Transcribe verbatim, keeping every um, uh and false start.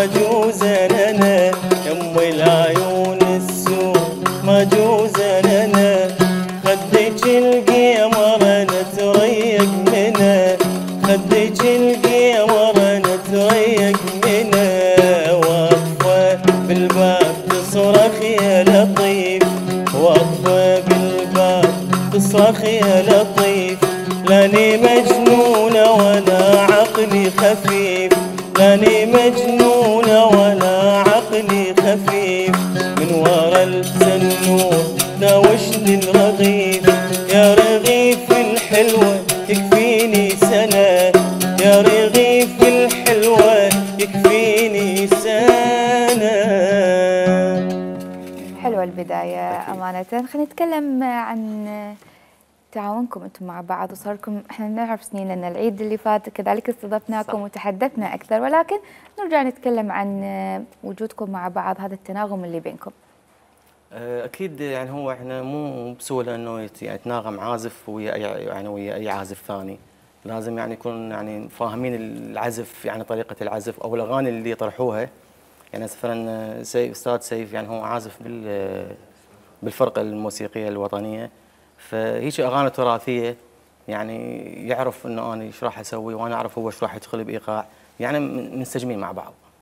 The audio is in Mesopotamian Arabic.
جوزا انا، يم العيون السود ما جوزا انا، خدك القمر انا تريق منه، خدك القمر انا تريق منه، واقفه بالباب تصرخ يا لطيف، واقفه بالباب تصرخ يا لطيف، لاني مجنونه ولا عقلي خفيف، لاني مجنونه ولا عقلي خفيف، من ورا التنور ناوشني الرغيف، يا رغيف الحلوه يكفيني سنه، يا رغيف الحلوه يكفيني سنه. حلوه البدايه امانه. خلينا نتكلم عن تعاونكم انتم مع بعض، وصار لكم احنا نعرف سنين لان العيد اللي فات كذلك استضفناكم وتحدثنا اكثر، ولكن نرجع نتكلم عن وجودكم مع بعض، هذا التناغم اللي بينكم. اكيد يعني هو احنا مو بسهوله انه يتناغم عازف ويا اي يعني ويا اي عازف ثاني، لازم يعني يكون يعني فاهمين العزف، يعني طريقه العزف او الاغاني اللي يطرحوها. يعني مثلا سيف استاذ سيف يعني هو عازف بال بالفرقه الموسيقيه الوطنيه، فهيك اغاني تراثيه يعني يعرف انه انا ايش راح اسوي وانا اعرف هو ايش راح يدخل بايقاع، يعني منسجمين مع بعض.